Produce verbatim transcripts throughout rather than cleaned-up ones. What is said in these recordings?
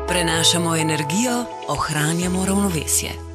Prenašamo energijo, ohranjamo ravnovesje.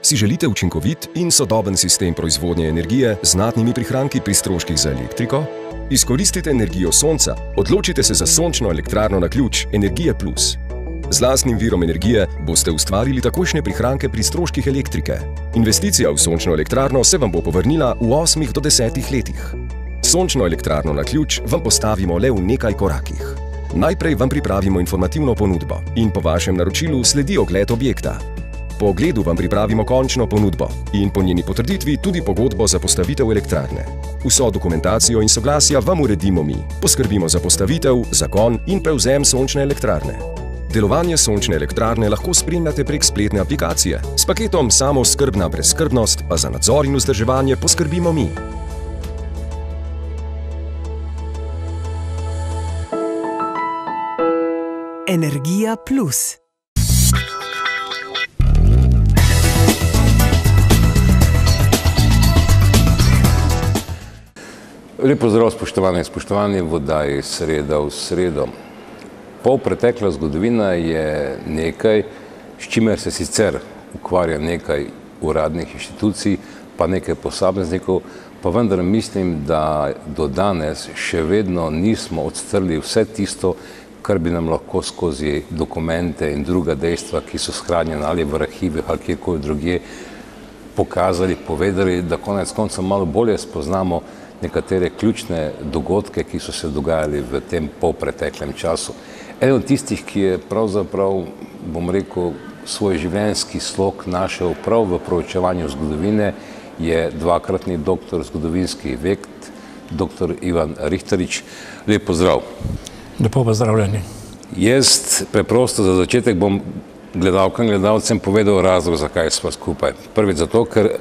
Si želite učinkovit in sodoben sistem proizvodnje energije z znatnimi prihranki pri stroških za elektriko? Izkoristite energijo sonca, odločite se za sončno elektrarno na ključ Energije Plus. Z lastnim virom energije boste ustvarili takojšnje prihranke pri stroških elektrike. Investicija v sončno elektrarno se vam bo povrnila v osmih do desetih letih. Sončno elektrarno na ključ vam postavimo le v nekaj korakih. Najprej vam pripravimo informativno ponudbo in po vašem naročilu sledi ogled objekta. Po ogledu vam pripravimo končno ponudbo in po njeni potrditvi tudi pogodbo za postavitev elektrarne. Vso dokumentacijo in soglasja vam uredimo mi. Poskrbimo za postavitev, zagon in prevzem sončne elektrarne. Delovanje sončne elektrarne lahko spremljate prek spletne aplikacije. S paketom Samooskrbna brezskrbnost pa za nadzor in vzdrževanje poskrbimo mi. Energija Plus. Lep pozdrav, spoštovane in spoštovani, v oddaji Sreda v sredo. Polpretekla zgodovina je nekaj, s čimer se sicer ukvarja nekaj uradnih inštitucij, pa nekaj posameznikov, pa vendar mislim, da do danes še vedno nismo odstrli vse tisto, kar bi nam lahko skozi dokumente in druga dejstva, ki so shranjena ali v arhivih ali kjerkoli drugje, pokazali, povedali, da konec konca malo bolje spoznamo nekatere ključne dogodke, ki so se dogajali v tem polpreteklem času. Eden od tistih, ki je pravzaprav, bom rekel, svoj življenjski slog našel prav v proučevanju zgodovine, je dvakratni doktor zgodovinskih ved, doktor Ivan Rihtarič. Lep pozdrav. Lepo pozdravljeni. Jaz preprosto za začetek bom gledalkam in gledalcem povedal razlog, zakaj smo skupaj. Prvič zato, ker eh,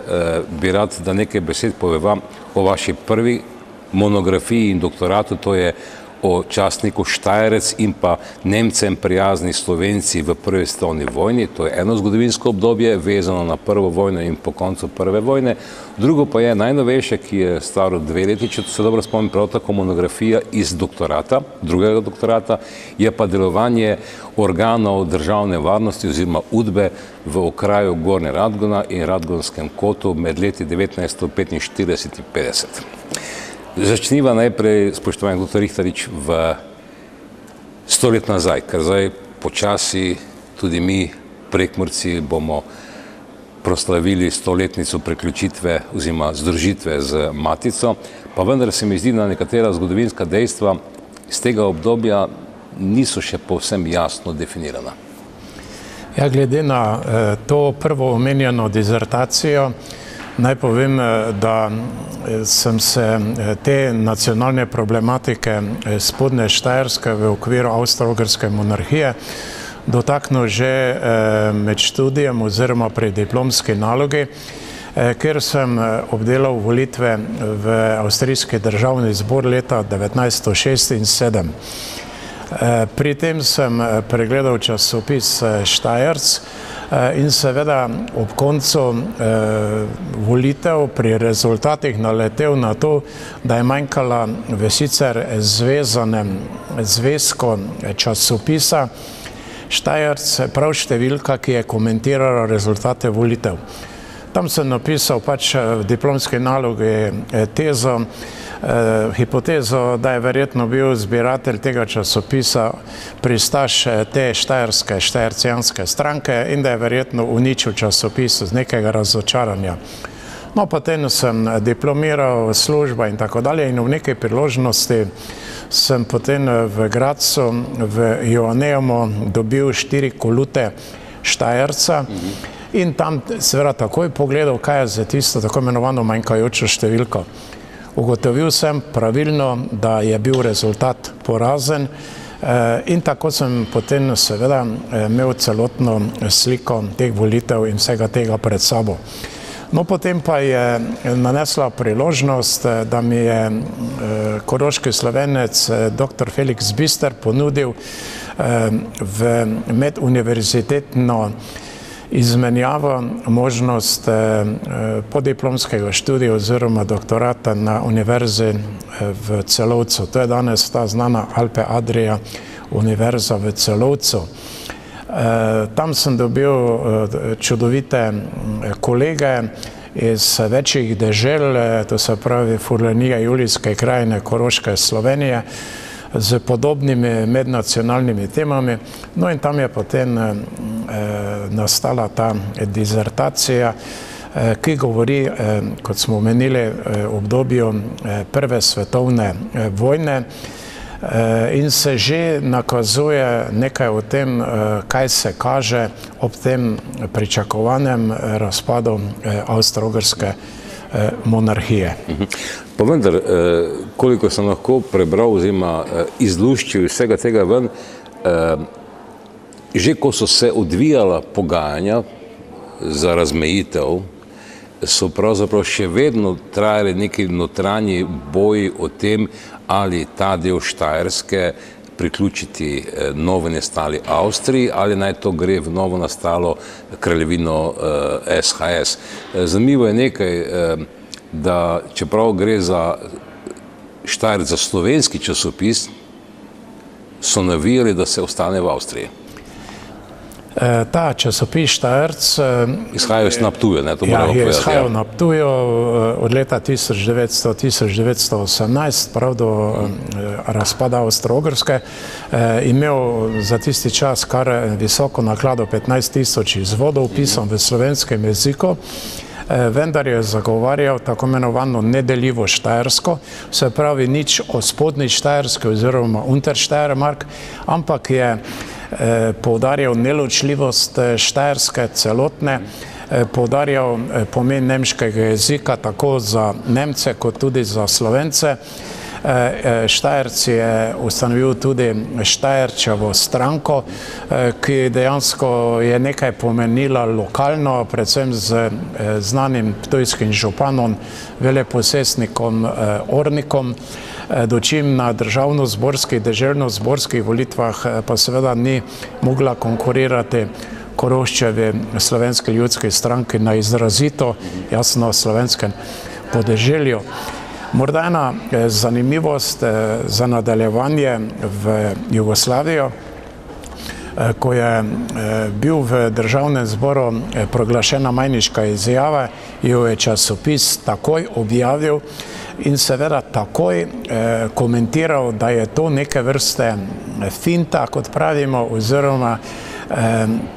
bi rad, da nekaj besed poveva o vaši prvi monografiji in doktoratu, to je o častniku Štajerec in pa Nemcem prijazni Slovenci v prvi svetovni vojni. To je eno zgodovinsko obdobje, vezano na prvo vojno in po koncu prve vojne. Drugo pa je najnovejše, ki je staro dve leti, če se dobro spomnim, prav tako monografija iz doktorata, drugega doktorata, je pa delovanje organov državne varnosti oziroma Udbe v okraju Gornje Radgona in Radgonskem kotu med leti devetnajststo petinštirideset in petdeset. Začniva najprej, spoštovani doktor Rihtarič, v sto let nazaj, ker zdaj počasi tudi mi, Prekmurci, bomo proslavili stoletnico priključitve oziroma združitve z Matico, pa vendar se mi zdi, da nekatera zgodovinska dejstva iz tega obdobja niso še povsem jasno definirana. Ja, glede na eh, to prvo omenjeno dizertacijo, naj povem, da sem se te nacionalne problematike spodnje Štajerske v okviru Avstro-Ogrske monarhije dotaknil že med študijem oziroma pri diplomski nalogi, ker sem obdelal volitve v Avstrijski državni zbor leta devetnajststo šestinsedemdeset. Pri tem sem pregledal časopis Štajerc in seveda ob koncu volitev pri rezultatih naletel na to, da je manjkala v sicer zvezanem zvezku časopisa Štajerc prav številka, ki je komentirala rezultate volitev. Tam sem napisal pač v diplomski nalogi tezo, hipotezo, da je verjetno bil zbiratelj tega časopisa pristaš te štajerske, štajercijanske stranke in da je verjetno uničil časopis z nekega razočaranja. No, potem sem diplomiral, služba in tako dalje in v nekaj priložnosti sem potem v Gradcu, v Joannejemu dobil štiri kolute Štajerca in tam seveda takoj pogledal, kaj je za tisto tako imenovano manjkajočo številko. Ugotovil sem pravilno, da je bil rezultat porazen, In tako sem potem seveda imel celotno sliko teh volitev in vsega tega pred sabo. No, potem pa je nanesla priložnost, da mi je koroški Slovenec doktor Felix Bister ponudil v meduniverzitetno izmenjavo možnost podiplomskega študija oziroma doktorata na univerzi v Celovcu. To je danes ta znana Alpe Adria univerza v Celovcu. Tam sem dobil čudovite kolege iz večjih dežel, to se pravi Furlanije, Julijske krajine, Koroške, Slovenije, z podobnimi mednacionalnimi temami. No in tam je potem nastala ta dizertacija, ki govori, kot smo omenili, o obdobju prve svetovne vojne in se že nakazuje nekaj o tem, kaj se kaže ob tem pričakovanem razpadu Avstro-Ogrske monarhije. Pa vendar, koliko sem lahko prebral oziroma izluščil iz vsega tega ven, že ko so se odvijala pogajanja za razmejitev, so pravzaprav še vedno trajali neki notranji boji o tem, ali ta del Štajerske priključiti novo nastali Avstriji ali naj to gre v novo nastalo kraljevino S H S. Zanimivo je nekaj, da čeprav gre za Štajerc, za slovenski časopis, so navijali, da se ostane v Avstriji. Ta časopis Štajerc izhajajo na Ptuju, ne, to moramo povedati. Ja, izhajajo na Ptuju od leta tisoč devetsto do tisoč devetsto osemnajst, prav do razpada Avstro-Ogrske, imel za tisti čas kar visoko naklado petnajst tisoč izvodov, pisan v slovenskem jeziku, vendar je zagovarjal tako imenovano nedeljivo Štajersko, se pravi nič o spodnji Štajerski oziroma Untersteiermark, ampak je poudarjal neločljivost Štajerske celotne, poudarjal pomen nemškega jezika tako za Nemce kot tudi za Slovence. Štajerc je ustanovil tudi Štajerčevo stranko, ki dejansko je nekaj pomenila lokalno, predvsem z znanim ptujskim županom, veleposestnikom Ornikom, dočim na državno-zborskih, deželno-zborskih volitvah pa seveda ni mogla konkurirati Koroščevi Slovenski ljudski stranki na izrazito jasno slovenskem podeželju. Morda ena zanimivost za nadaljevanje v Jugoslavijo, ko je bil v državnem zboru proglašena majniška izjava, jo je časopis takoj objavil in seveda takoj komentiral, da je to neke vrste finta, kot pravimo, oziroma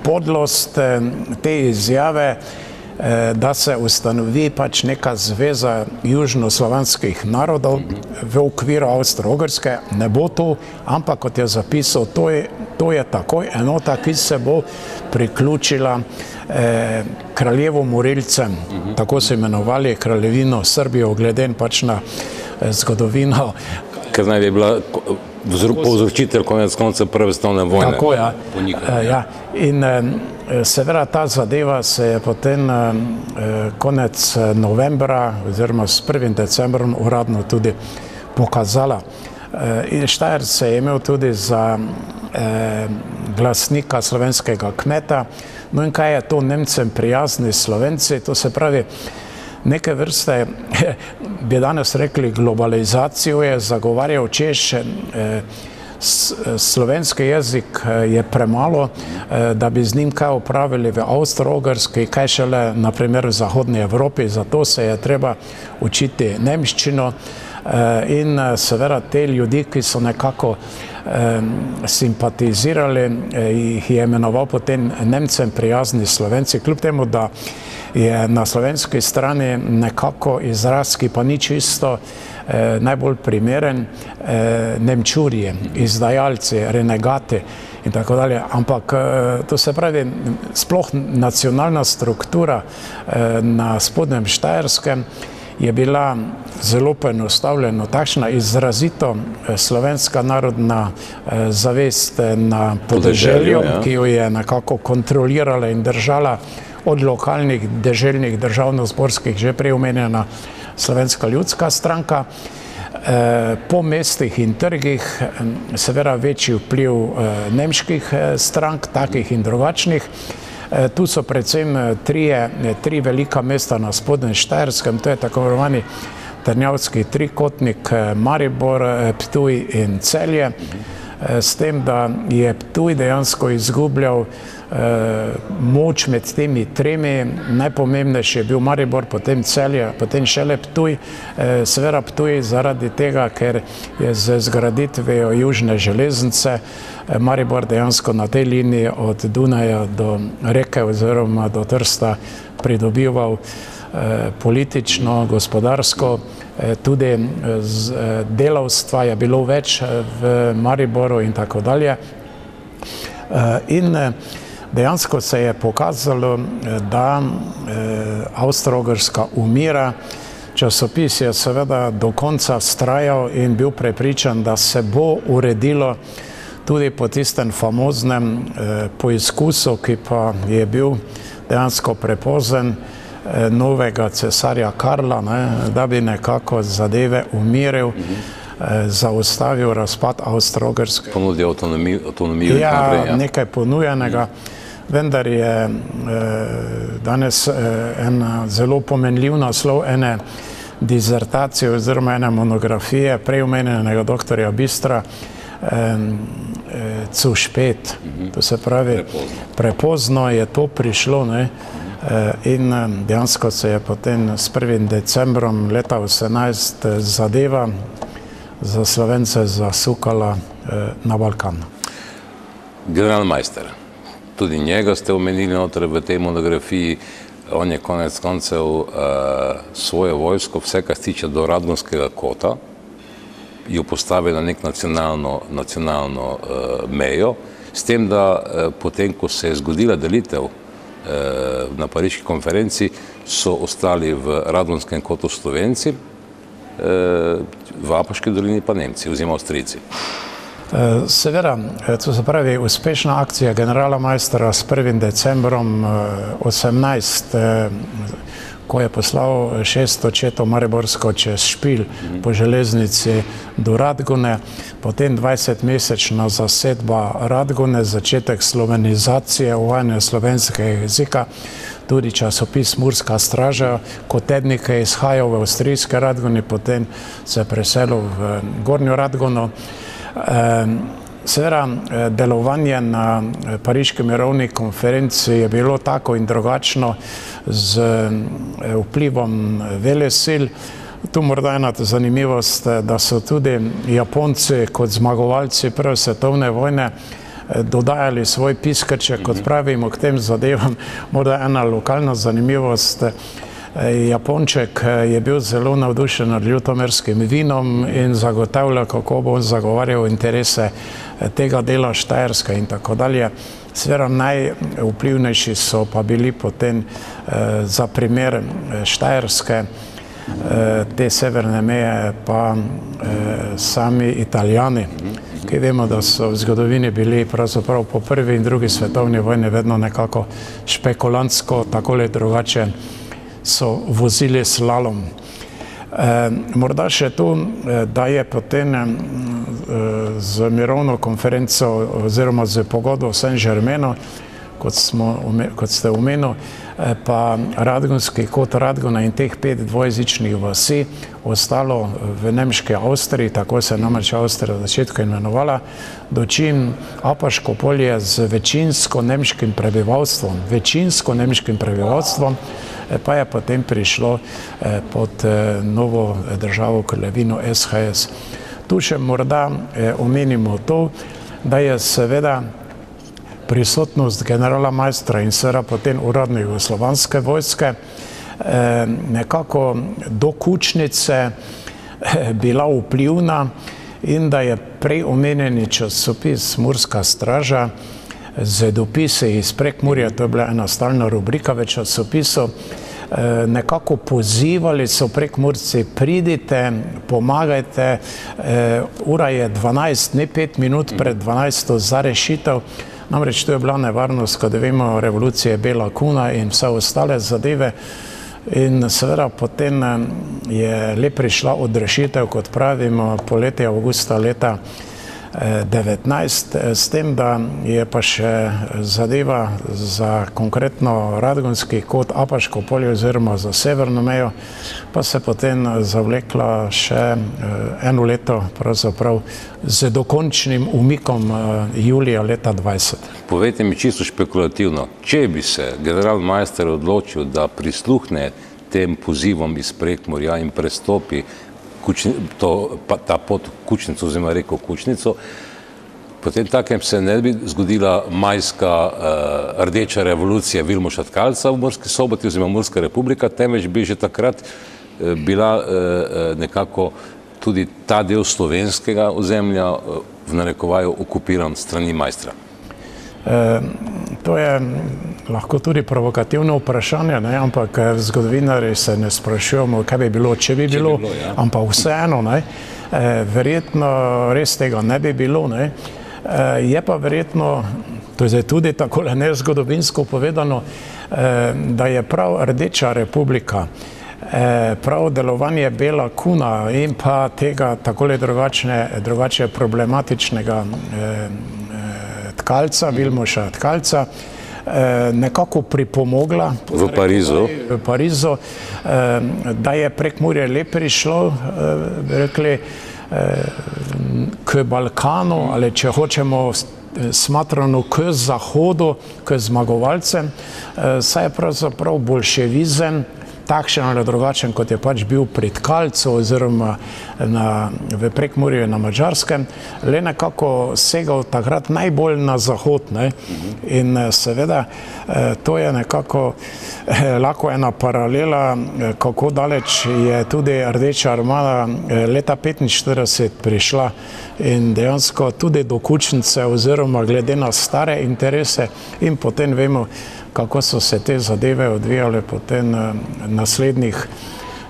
podlost te izjave, da se ustanovi pač neka zveza južnoslovanskih narodov v okviru Avstro-Ogrske. Ne bo to, ampak kot je zapisal, to je, to je takoj enota, ki se bo priključila eh, kraljevu Morilcem, tako so imenovali kraljevino Srbijo, glede pač na eh, zgodovino. Ker naj bi bila povzročitelj konec konca prve svetovne vojne. Tako, ja. Ja. In seveda ta zadeva se je potem konec novembra oziroma s prvim decembrom uradno tudi pokazala. In Štajerc se je imel tudi za glasnika slovenskega kmeta. No in kaj je to Nemcem prijazni Slovenci? To se pravi, neke vrste, bi danes rekli, globalizacijo je zagovarjal, češ slovenski jezik je premalo, da bi z njim kaj opravili v Avstro-Ogrski, kaj šele naprimer v Zahodni Evropi, zato se je treba učiti nemščino in seveda te ljudi, ki so nekako simpatizirali, jih je imenoval potem Nemcem prijazni Slovenci, kljub temu, da je na slovenski strani nekako izraz, ki pa ni čisto eh, najbolj primeren, eh, nemčurji, izdajalci, renegati in tako dalje. Ampak eh, to se pravi, sploh nacionalna struktura eh, na spodnjem Štajerskem je bila zelo poenostavljena, takšna izrazito slovenska narodna zavest na podeželju, ki jo je nekako kontrolirala in držala od lokalnih, deželnih, državno-zborskih, že prej omenjena Slovenska ljudska stranka. Po mestih in trgih seveda večji vpliv nemških strank, takih in drugačnih. Tu so predvsem trije, tri velika mesta na Spodnjem Štajerskem, to je tako imenovani Trnavski trikotnik, Maribor, Ptuj in Celje, s tem, da je Ptuj dejansko izgubljal moč med temi tremi. Najpomembnejši je bil Maribor, potem Celje, potem šele Ptuj. Seveda Ptuj zaradi tega, ker je z zgraditvijo južne železnice Maribor dejansko na tej liniji od Dunaja do Reke oziroma do Trsta pridobival politično, gospodarsko, tudi delavstva je bilo več v Mariboru in tako dalje. In dejansko se je pokazalo, da Avstro-Ogrska umira. Časopis je seveda do konca vztrajal in bil prepričan, da se bo uredilo tudi po tistem famoznem poizkusu, ki pa je bil dejansko prepozen, novega cesarja Karla, da bi nekako zadeve umiril, zaustavil razpad Avstro-Ogrske. Ponudil avtonomijo. Ja, nekaj ponujenega, vendar je danes en zelo pomenljiv naslov ene dizertacije oziroma ene monografije prej omenjenega doktorja Bistra, zu spät, to se pravi, prepozno je to prišlo, in dejansko se je potem s prvim decembrom leta osemnajst zadeva za Slovence zasukala na Balkan. Generalmajster, tudi njega ste omenili noter v tej monografiji. On je konec koncev svojo vojsko, vse kar se tiče do Radgonskega kota, jo postavil na nek nacionalno mejo, s tem, da potem, ko se je zgodila delitev na pariški konferenci, so ostali v Radgonskem kotu Slovenci, v Apaški dolini pa Nemci oziroma Avstrijci. Seveda, to se pravi, uspešna akcija generalmajstra s prvim decembrom osemnajst, ko je poslal šesto četo mariborsko čez Špil po železnici do Radgone, potem dvajsetmesečna zasedba Radgone, začetek slovenizacije, uvajanje slovenskega jezika, tudi časopis Murska straža, kot tednik je izhajal v avstrijske Radgoni, potem se je preselil v Gornjo Radgono. Seveda, delovanje na pariški mirovni konferenci je bilo tako in drugačno z vplivom velesil. Tu morda ena zanimivost, da so tudi Japonci kot zmagovalci prve svetovne vojne dodajali svoj piskrček, kot pravimo, k tem zadevam. Morda ena lokalna zanimivost. Japonček je bil zelo navdušen nad ljutomerskim vinom in zagotavljal, kako bo zagovarjal interese tega dela Štajerske in tako dalje. Seveda najvplivnejši so pa bili potem za primer Štajerske, te severne meje, pa sami Italijani, ki vemo, da so v zgodovini bili pravzaprav po prvi in drugi svetovni vojni vedno nekako špekulantsko, takole drugače so vozili slalom. Morda še tu, da je potem z mirovno konferenco oziroma z pogodbo v Saint-Germainu, kot ste omenili, pa Radgonski kot Radgona in teh pet dvojezičnih vasi ostalo v nemški Avstriji, tako se je namreč Avstrija v začetku imenovala, dočim Apaško polje z večinsko nemškim prebivalstvom, večinsko nemškim prebivalstvom, pa je potem prišlo pod novo državo kraljevino S H S. Tu še morda omenimo to, da je seveda prisotnost generalmajstra in seveda potem uradne jugoslovanske vojske nekako do Kučnice bila vplivna in da je prej omenjeni časopis Murska straža z dopisi iz Prekmurja, to je bila ena stalna rubrika v časopisu, nekako pozivali so Prekmurci, pridite, pomagajte, ura je dvanajst, ne pet minut pred dvanajsto za rešitev. Namreč to je bila nevarnost, kot vemo, revolucije Bela kuna in vse ostale zadeve. In seveda potem je le prišla odrešitev, kot pravimo, poletje avgusta leta devetnajst, s tem, da je pa še zadeva za konkretno Radgonski kot Apaško polje oziroma za severno mejo, pa se potem zavlekla še eno leto pravzaprav z dokončnim umikom julija leta dvajset. Povejte mi čisto špekulativno, če bi se generalmajster odločil, da prisluhne tem pozivom iz Prekmurja in prestopi To, ta pot Kučnico, oziroma reko Kučnico, potem takem se ne bi zgodila majska uh, rdeča revolucija Vilmoša Tkalca v Murski Soboti oziroma Murska republika, temveč bi že takrat uh, bila uh, nekako tudi ta del slovenskega ozemlja uh, v narekovaju okupiran strani majstra. E, to je lahko tudi provokativno vprašanje, ne? Ampak zgodovinarji se ne sprašujemo, kaj bi bilo, če bi bilo, če bi bilo ja. Ampak vseeno, ne? E, verjetno res tega ne bi bilo. Ne? E, je pa verjetno, to je tudi tako nezgodovinsko povedano, e, da je prav Rdeča republika, e, prav delovanje Bela kuna in pa tega takole drugačne, drugače problematičnega e, Tkalca, Vilmoša Tkalca, nekako pripomogla v Parizu, v Parizu, da je Prekmurje le prišlo, rekli, k Balkanu, ali če hočemo smatrano k zahodu, k zmagovalcem, saj je pravzaprav bolševizem takšen ali drugačen, kot je pač bil pri Tkalcu oziroma na, v Prekmurju na Madžarskem, le nekako segal takrat najbolj na zahod. Ne? In seveda to je nekako lahko ena paralela, kako daleč je tudi Rdeča armada leta petinštirideset prišla in dejansko tudi do Kučnice oziroma glede na stare interese in potem vemo, kako so se te zadeve odvijale potem naslednjih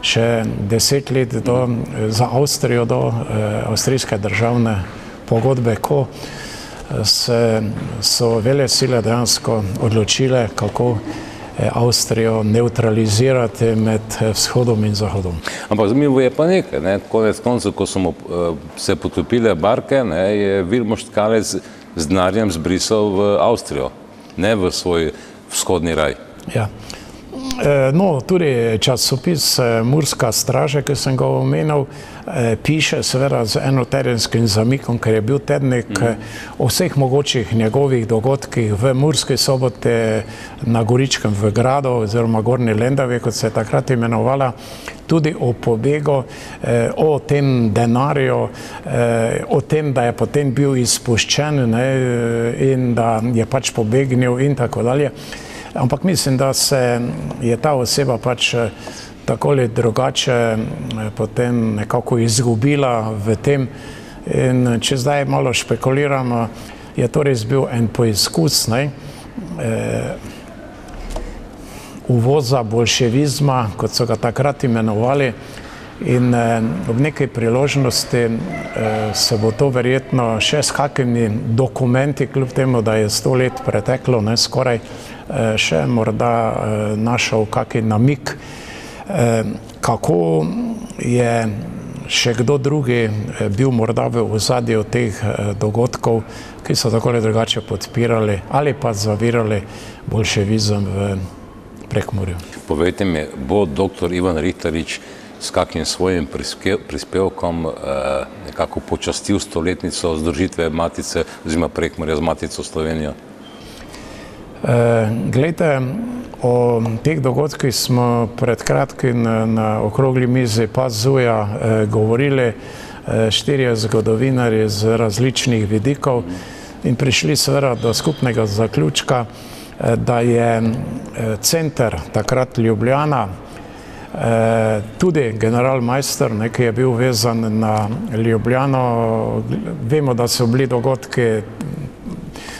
še deset let do, za Avstrijo do eh, avstrijske državne pogodbe, ko se, so velesile dejansko odločile, kako Avstrijo neutralizirati med vzhodom in zahodom. Ampak zanimivo je pa nekaj, ne? Konec koncev, ko so mu se potopile barke, ne, je Vilmoš Tkalec z denarjem zbrisal v Avstrijo, ne v svoj vzhodni raj. Ja. No, tudi časopis Murska straža, ki sem ga omenil, piše seveda z enotedenskim zamikom, ker je bil tednik o vseh mogočih njegovih dogodkih v Murski Soboti, na Goričkem v Gradu oziroma Gornji Lendavi, kot se je takrat imenovala, tudi o pobegu, o tem denarju, o tem, da je potem bil izpuščen, ne, in da je pač pobegnil in tako dalje. Ampak mislim, da se je ta oseba pač tako ali drugače potem nekako izgubila v tem. In če zdaj malo špekuliramo, je to res bil en poizkus, ne, uvoza bolševizma, kot so ga takrat imenovali, in ob nekaj priložnosti se bo to verjetno še s kakimi dokumenti, kljub temu, da je sto let preteklo, ne, skoraj, še morda našel kakšen namig, kako je še kdo drugi bil morda v ozadju teh dogodkov, ki so tako ali drugače podpirali ali pa zavirali bolševizem v Prekmurju. Povejte mi, bo doktor Ivan Rihtarič s kakim svojim prispevkom nekako počastil stoletnico združitve Matice oziroma Prekmurja z Matico Slovenijo? Glejte, o teh dogodkih smo pred kratkim na okrogli mizi Pazuja govorili štirje zgodovinarji z različnih vidikov in prišli seveda do skupnega zaključka, da je center takrat Ljubljana, tudi generalmajster, ki je bil vezan na Ljubljano, vemo, da so bili dogodki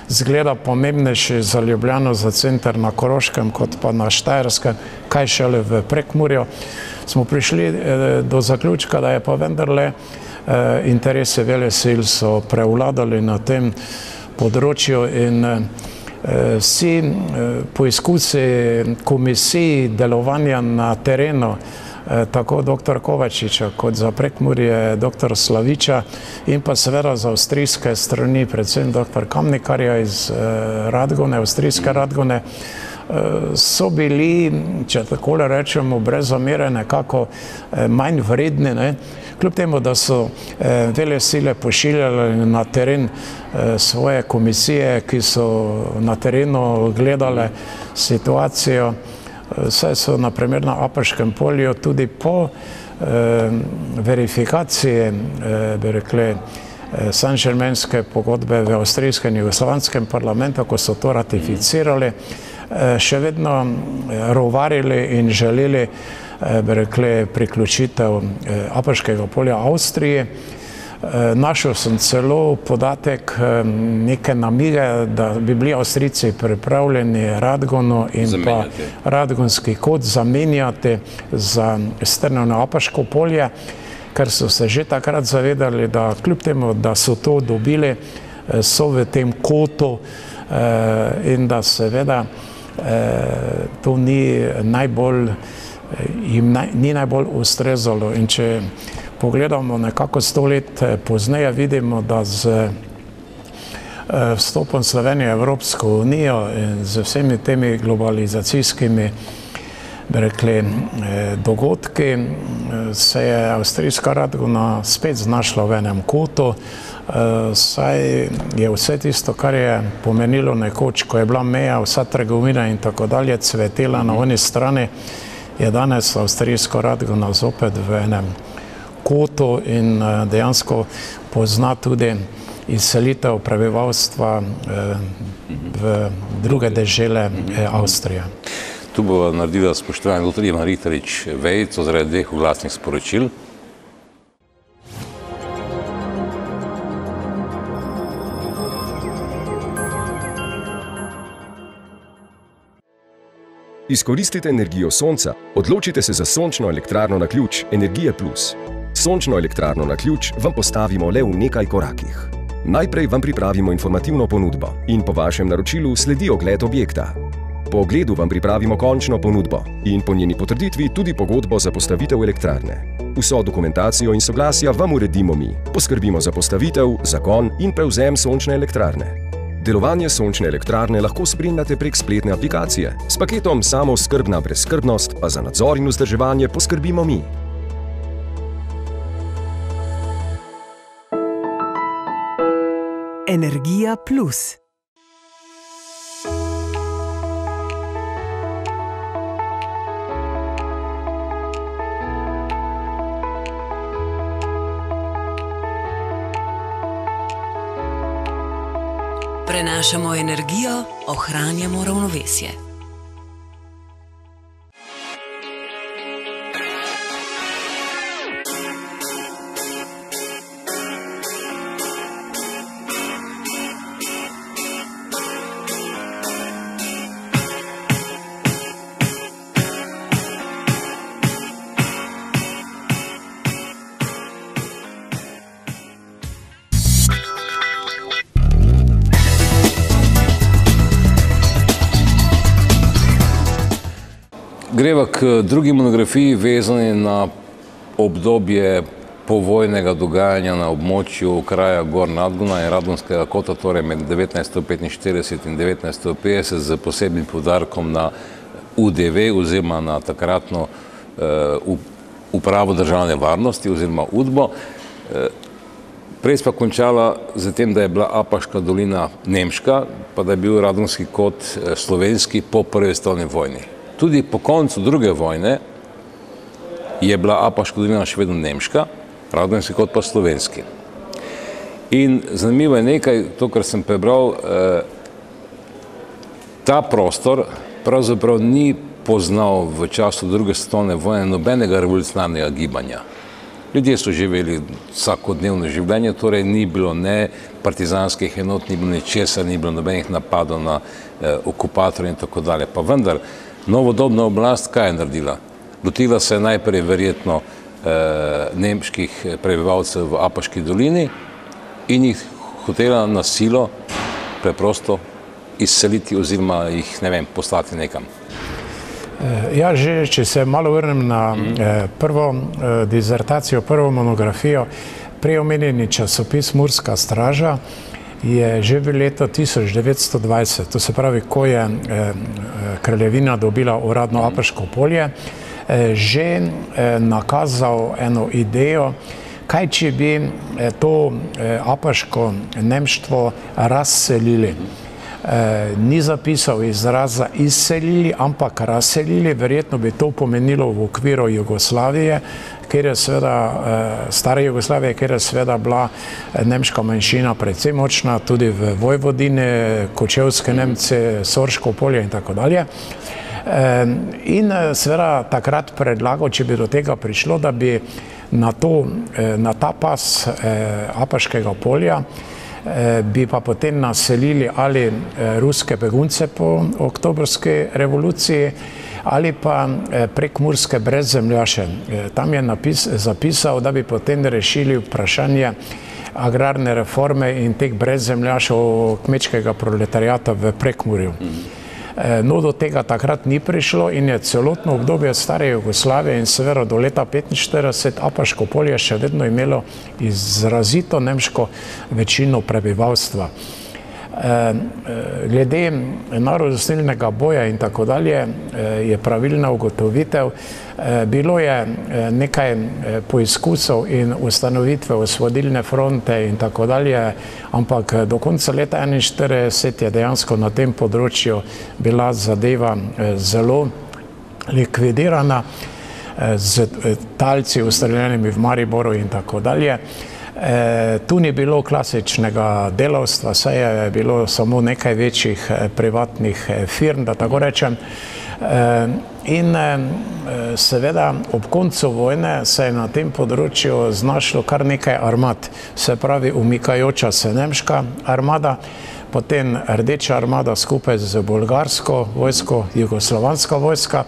zgleda pomembnejši za Ljubljano, za center na Koroškem, kot pa na Štajerskem, kaj šele v Prekmurju, smo prišli do zaključka, da je pa vendarle interese velesil so prevladali na tem področju in vsi poizkusi komisij delovanja na terenu, tako doktor Kovačiča kot za Prekmurje doktor Slaviča in pa seveda za avstrijske strani, predvsem doktor Kamnikarja iz Radgone, avstrijske Radgone, so bili, če takole rečemo, brez zamere nekako manj vredni, ne? Kljub temu, da so velesile pošiljali na teren svoje komisije, ki so na terenu gledale situacijo, saj so na primer na Apaškem polju tudi po verifikaciji, bi rekli, Saint-Germainske pogodbe v avstrijskem in jugoslovanskem parlamentu, ko so to ratificirali, še vedno rovarili in želeli, bi rekli, priključitev Apaškega polja Avstriji. Našel sem celo podatek neke namige, da bi bili Avstrijci pripravljeni Radgono in pa Radgonski kot zamenjati za strnjeno Apaško polje, ker so se že takrat zavedali, da kljub temu, da so to dobili, so v tem kotu in da seveda to ni najbolj, jim ni najbolj ustrezalo. In če pogledamo nekako sto let pozneje, vidimo, da z vstopom Slovenije v Evropsko unijo in z vsemi temi globalizacijskimi, bi rekli, dogodki, se je avstrijska Radgona spet znašla v enem kotu, saj je vse tisto, kar je pomenilo nekoč, ko je bila meja, vsa trgovina in tako dalje cvetela na oni strani, je danes avstrijska Radgona zopet v enem kotu in dejansko pozna tudi izselitev prebivalstva v druge dežele Avstrije. Tu bo naredila spoštovani doktor Ivan Riterič vejico zaradi dveh oglasnih sporočil. Izkoristite energijo sonca, odločite se za sončno elektrarno na ključ Energija plus. Sončno elektrarno na ključ vam postavimo le v nekaj korakih. Najprej vam pripravimo informativno ponudbo in po vašem naročilu sledi ogled objekta. Po ogledu vam pripravimo končno ponudbo in po njeni potrditvi tudi pogodbo za postavitev elektrarne. Vso dokumentacijo in soglasja vam uredimo mi. Poskrbimo za postavitev, zagon in prevzem sončne elektrarne. Delovanje sončne elektrarne lahko spremljate prek spletne aplikacije. S paketom Samooskrbna brezskrbnost pa za nadzor in vzdrževanje poskrbimo mi. Energija plus. Prenašamo energijo, ohranjamo ravnovesje. Greva k drugi monografiji, vezani na obdobje povojnega dogajanja na območju kraja Gor Radgona in Radgonskega kota, torej med devetnajststo petinštirideset in devetnajststo petdeset, z posebnim poudarkom na U D V oziroma na takratno upravo državne varnosti oziroma U D B O. Prej pa končala z tem, da je bila Apaška dolina nemška, pa da je bil Radgonski kot slovenski po prvi svetovni vojni. Tudi po koncu druge vojne je bila Apaška dolina še vedno nemška, Radgonski kot pa slovenski. In zanimivo je nekaj, to, kar sem prebral, ta prostor pravzaprav ni poznal v času druge svetovne vojne nobenega revolucionarnega gibanja. Ljudje so živeli vsakodnevno življenje, torej ni bilo ne partizanskih enot, ni bilo ničesar, ni bilo nobenih napadov na eh, okupatorje in tako dalje. Pa vendar, novodobna oblast kaj je naredila? Lotila se je najprej verjetno eh, nemških prebivalcev v Apaški dolini in jih hotela na silo preprosto izseliti oziroma jih, ne vem, poslati nekam. Ja, že, če se malo vrnem na eh, prvo eh, dizertacijo, prvo monografijo, prej omenjeni časopis Murska straža je že v letu tisoč devetsto dvajset, to se pravi, ko je eh, kraljevina dobila uradno Apaško polje, eh, že eh, nakazal eno idejo, kaj če bi eh, to eh, apaško nemštvo razselili. Eh, ni zapisal izraza izselili, ampak razselili, verjetno bi to pomenilo v okviru Jugoslavije, kjer je seveda, eh, stare Jugoslavije, kjer je seveda bila nemška manjšina predvsem močna, tudi v Vojvodini, Kočevske Nemce, Sorško polje in tako dalje. Eh, in seveda takrat predlagal, če bi do tega prišlo, da bi na, to, eh, na ta pas eh, Apaškega polja bi pa potem naselili ali ruske begunce po oktobrski revoluciji ali pa prekmurske brezzemljaše. Tam je napis, zapisal, da bi potem rešili vprašanje agrarne reforme in teh brezzemljašev kmečkega proletarijata v Prekmurju. No, do tega takrat ni prišlo in je celotno obdobje stare Jugoslavije in seveda do leta petinštirideset Apaško polje še vedno imelo izrazito nemško večino prebivalstva. Glede narodostilnega boja in tako dalje je pravilna ugotovitev. Bilo je nekaj poizkusov in ustanovitve osvobodilne fronte in tako dalje, ampak do konca leta enainštirideset je dejansko na tem področju bila zadeva zelo likvidirana z talci ustreljenimi v Mariboru in tako dalje. E, tu ni bilo klasičnega delavstva, saj je bilo samo nekaj večjih privatnih firm, da tako rečem. E, in e, seveda ob koncu vojne se je na tem področju znašlo kar nekaj armad, se pravi umikajoča se nemška armada, potem Rdeča armada skupaj z bolgarsko vojsko, jugoslovanska vojska.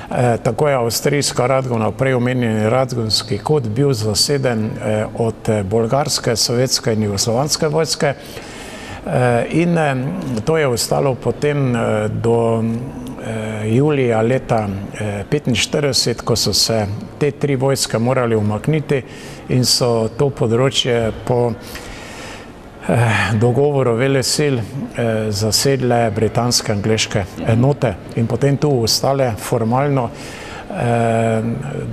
E, tako je avstrijska Radgona, prej omenjeni Radgonski kot, bil zaseden e, od bolgarske, sovjetske in jugoslovanske vojske. E, in e, to je ostalo potem e, do e, julija leta e, petinštirideset, ko so se te tri vojske morali umakniti in so to področje po dogovoru velesil zasedle britanske angleške enote in potem tu ostale formalno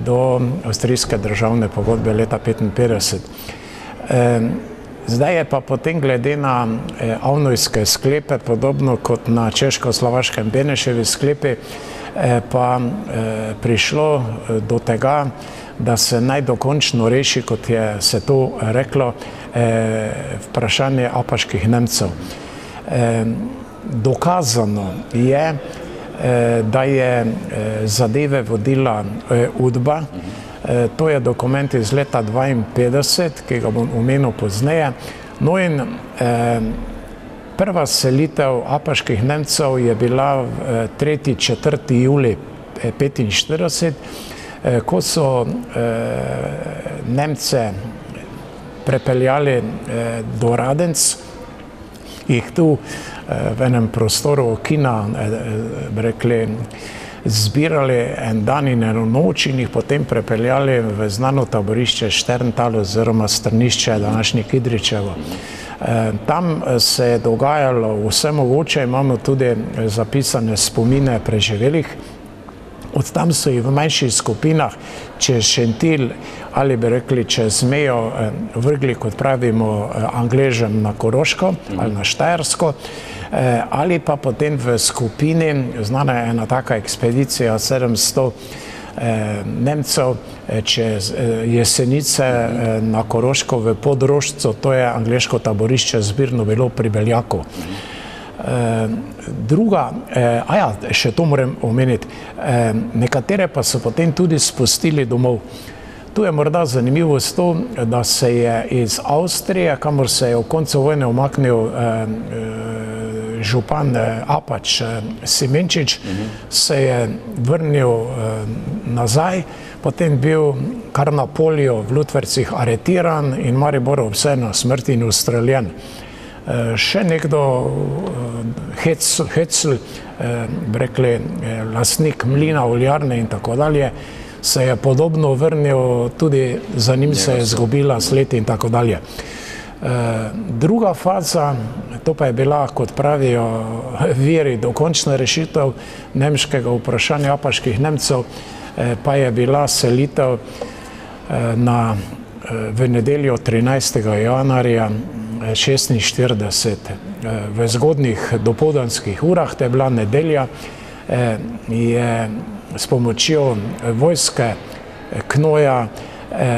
do avstrijske državne pogodbe leta petinpetdeset. Zdaj je pa potem glede na avnojske sklepe, podobno kot na češko-slovaškem Beneševi sklepi, pa prišlo do tega, da se naj dokončno reši, kot je se to reklo, vprašanje apaških Nemcev. Dokazano je, da je zadeve vodila UDBA. To je dokument iz leta dvainpetdeset, ki ga bom omenil pozneje. No in prva selitev apaških Nemcev je bila tretji četrti julij petinštirideset, ko so Nemce prepeljali do Radenc, jih tu v enem prostoru kina, rekli, zbirali en dan in eno noč in jih potem prepeljali v znano taborišče Šterntal oziroma strnišče današnje Kidričevo. Tam se je dogajalo vse mogoče, imamo tudi zapisane spomine preživelih. Od tam so jih v manjših skupinah čez Šentilj ali bi rekli čez mejo vrgli, kot pravimo Angležem, na Koroško ali na Štajersko, ali pa potem v skupini, znana je ena taka ekspedicija sedemsto Nemcev čez Jesenice na Koroško v Podrožcu, to je angleško taborišče zbirno bilo pri Beljaku. Druga, a ja, še to moram omeniti, nekatere pa so potem tudi spustili domov. Tu je morda zanimivost to, da se je iz Avstrije, kamor se je v koncu vojne umaknil župan Apač Simenčič, se je vrnil nazaj, potem bil kar na polju v Lutvercih aretiran in Maribor obsojen na smrt in ustreljen. Še nekdo, Hecl, bi rekli, lastnik mlina, oljarne in tako dalje, se je podobno vrnil, tudi za njim se je izgubila sled in tako dalje. Druga faza, to pa je bila, kot pravijo viri, dokončna rešitev nemškega vprašanja apaških Nemcev, pa je bila selitev na, v nedeljo trinajstega januarja šestinštirideset. V zgodnjih dopoldanskih urah, to je bila nedelja, je s pomočjo vojske Knoja,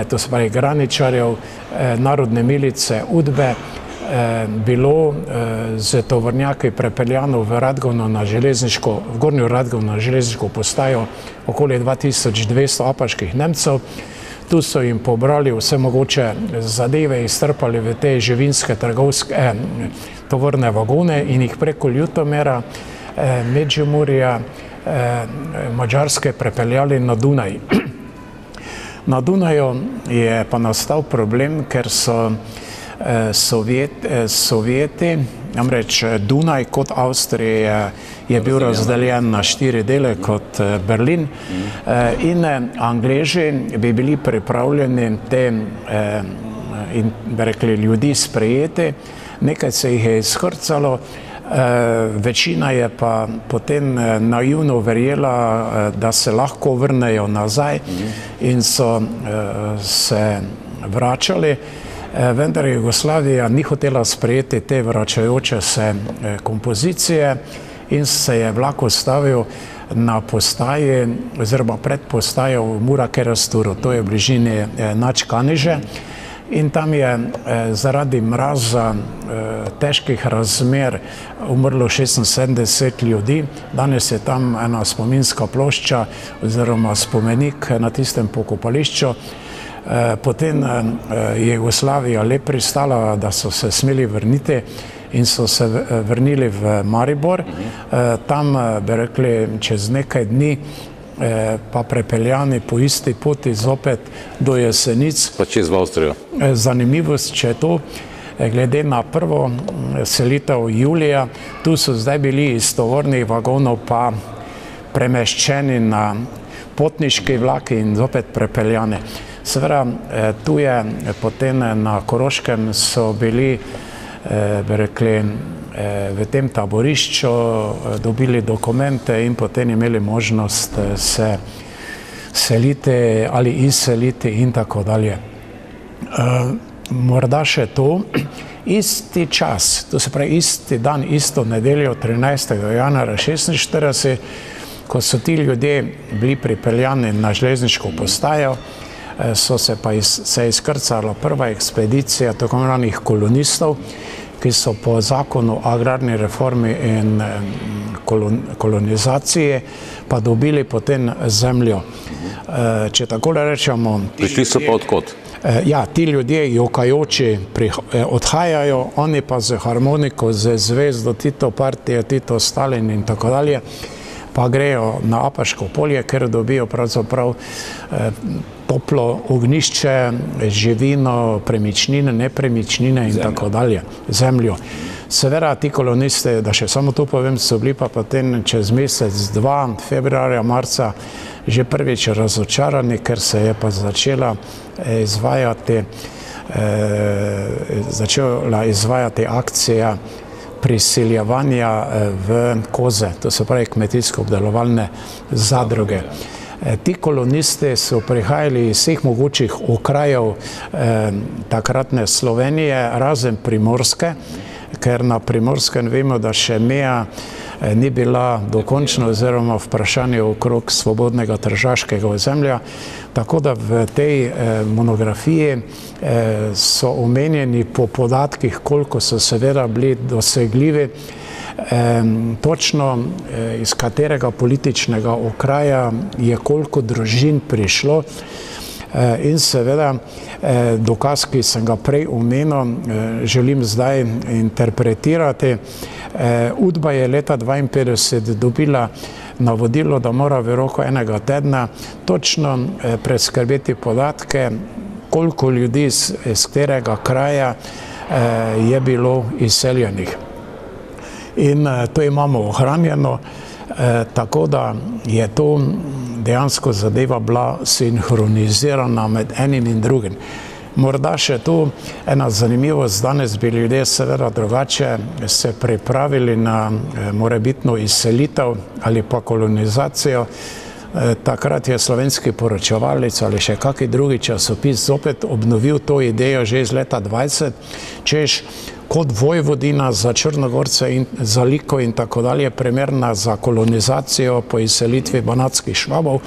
to se pravi graničarjev, narodne milice Udbe, bilo z tovornjaki prepeljano v Radgovno na železniško, v Gornjo Radgovno na železniško postajo okoli dva tisoč dvesto apaških Nemcev. Tu so jim pobrali vse mogoče zadeve, iztrpali v te živinske trgovske eh, tovorne vagone in jih preko Ljutomera, eh, Međimurja, eh, Madžarske prepeljali na Dunaj. Na Dunaju je pa nastal problem, ker so eh, Sovjet, eh, Sovjeti, namreč Dunaj kot Avstrija je bil razdeljen na štiri dele kot Berlin in Angleži bi bili pripravljeni te in bi rekli ljudi sprejeti, nekaj se jih je izhrcalo, večina je pa potem naivno verjela, da se lahko vrnejo nazaj in so se vračali. Vendar Jugoslavija ni hotela sprejeti te vračajoče se kompozicije in se je vlak ustavil na postaji oziroma pred postajo v Murakerasturu, to je v bližini Načkaniže, in tam je zaradi mraza, težkih razmer umrlo šestinsedemdeset ljudi. Danes je tam ena spominska plošča oziroma spomenik na tistem pokopališču. Potem je Jugoslavija le pristala, da so se smeli vrniti in so se vrnili v Maribor. Tam, bi rekli, čez nekaj dni pa prepeljani po isti poti zopet do Jesenic. Pa čez v Avstrijo. Zanimivost, če je to, glede na prvo selitev julija, tu so zdaj bili iz tovornih vagonov pa premeščeni na potniški vlak in zopet prepeljani. Seveda, tu je potem na Koroškem so bili, bi rekli, v tem taborišču, dobili dokumente in potem imeli možnost se seliti ali izseliti in tako dalje. Morda še to, isti čas, to se pravi isti dan, isto nedeljo, trinajstega januarja šestinštirideset, ko so ti ljudje bili pripeljani na železniško postajo, so se pa iz, se izkrcala prva ekspedicija tako imenovanih kolonistov, ki so po zakonu o agrarni reformi in kolon, kolonizaciji pa dobili potem zemljo. Če takole rečemo... Prišli so pa odkot? Ja, ti ljudje jokajoči odhajajo, oni pa z harmoniko, z zvezdo Tito partije, Tito Stalin in tako dalje, pa grejo na Apaško polje, ker dobijo pravzaprav toplo ognjišče, živino, premičnine, nepremičnine in tako dalje, zemljo. Seveda ti kolonisti, da še samo to povem, so bili pa potem čez mesec, dva, februarja, marca, že prvič razočarani, ker se je pa začela izvajati, začela izvajati akcija prisiljevanja v koze, to se pravi kmetijsko-obdelovalne zadruge. Ti kolonisti so prihajali iz vseh mogočih okrajev takratne Slovenije, razen Primorske, ker na Primorskem vemo, da še meja ni bila dokončna oziroma vprašanje okrog svobodnega tržaškega ozemlja. Tako da v tej monografiji so omenjeni po podatkih, koliko so seveda bili dosegljivi, točno iz katerega političnega okraja je koliko družin prišlo. In seveda dokaz, ki sem ga prej omenil, želim zdaj interpretirati. Udba je leta dvainpetdeset dobila navodilo, da mora v roku enega tedna točno preskrbeti podatke, koliko ljudi iz katerega kraja je bilo izseljenih. In to imamo ohranjeno, tako da je to dejansko zadeva bila sinhronizirana med enim in drugim. Morda še tu ena zanimivost, danes bi ljudje seveda drugače se pripravili na morebitno izselitev ali pa kolonizacijo. Takrat je Slovenski poročevalec ali še kakšen drugi časopis zopet obnovil to idejo že iz leta dvajset, češ kot Vojvodina za Črnogorce in za Liko in tako dalje primerna za kolonizacijo po izselitvi banatskih Švabov,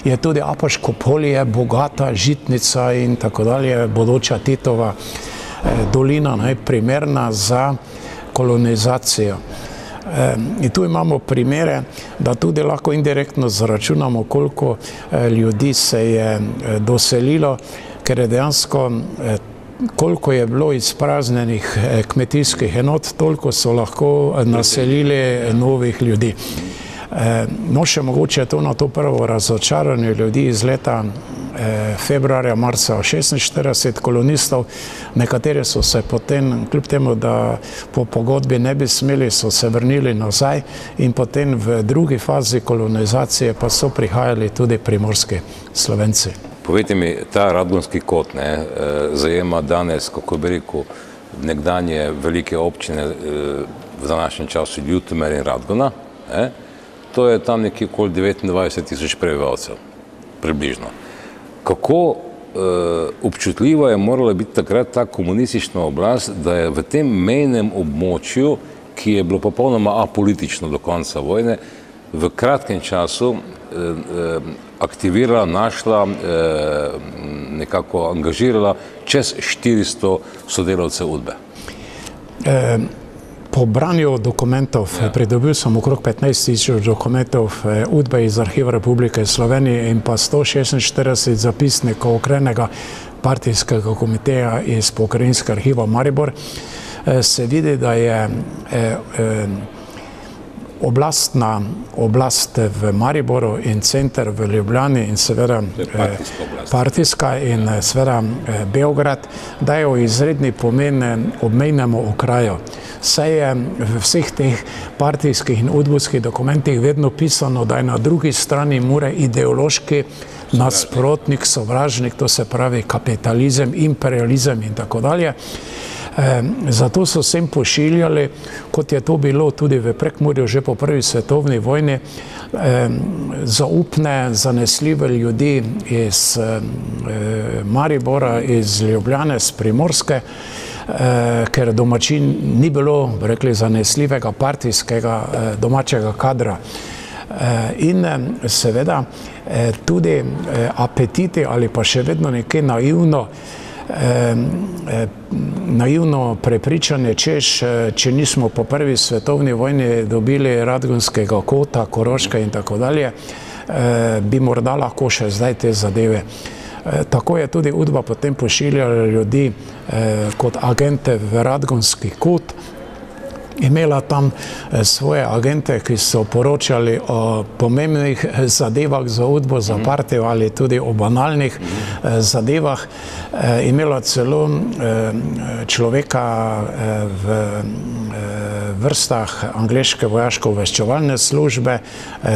je tudi Apaško polje, bogata žitnica in tako dalje, bodoča Titova dolina, primerna za kolonizacijo. In tu imamo primere, da tudi lahko indirektno zaračunamo, koliko ljudi se je doselilo, ker je dejansko, koliko je bilo izpraznjenih kmetijskih enot, toliko so lahko naselili novih ljudi. No, še mogoče to na to prvo razočaranje ljudi iz leta februarja, marca šestinštirideset kolonistov, nekateri so se potem, kljub temu, da po pogodbi ne bi smeli, so se vrnili nazaj in potem v drugi fazi kolonizacije pa so prihajali tudi primorski Slovenci. Povejte mi, ta Radgonski kot ne, zajema danes, kako bi rekel, nekdanje velike občine v današnjem času Ljutomer in Radgona, ne? To je tam nekje okoli devetindvajset tisoč prebivalcev, približno. Kako občutljiva je morala biti takrat ta komunistična oblast, da je v tem mejnem območju, ki je bilo popolnoma apolitično do konca vojne, v kratkem času aktivirala, našla, nekako angažirala čez štiristo sodelavcev Udbe? Po branju dokumentov, pridobil sem okrog petnajst tisoč dokumentov Udbe iz Arhiva Republike Slovenije in pa sto šestinštirideset zapisnikov okrenega partijskega komiteja iz Pokrajinskega arhiva Maribor, se vidi, da je oblastna oblast v Mariboru in center v Ljubljani in seveda partijska in seveda Beograd dajo izredni pomen obmejnemu okraju. Saj je v vseh teh partijskih in udbovskih dokumentih vedno pisano, da je na drugi strani Mure ideološki nasprotnik, sovražnik, to se pravi kapitalizem, imperializem in tako dalje. Zato so sem pošiljali, kot je to bilo tudi v Prekmurju že po prvi svetovni vojni, zaupne, zanesljive ljudi iz Maribora, iz Ljubljane, z Primorske, ker domačin ni bilo, rekli, zanesljivega partijskega domačega kadra. In seveda tudi apetiti ali pa še vedno nekaj naivno naivno prepričanje, češ, če nismo po prvi svetovni vojni dobili Radgonskega kota, Koroške in tako dalje, bi morda lahko še zdaj te zadeve. Tako je tudi Udba potem pošiljala ljudi kot agente v Radgonski kot, imela tam svoje agente, ki so poročali o pomembnih zadevah za Udbo, za partijo ali tudi o banalnih zadevah. Imela celo človeka v vrstah angleške vojaško-obveščevalne službe,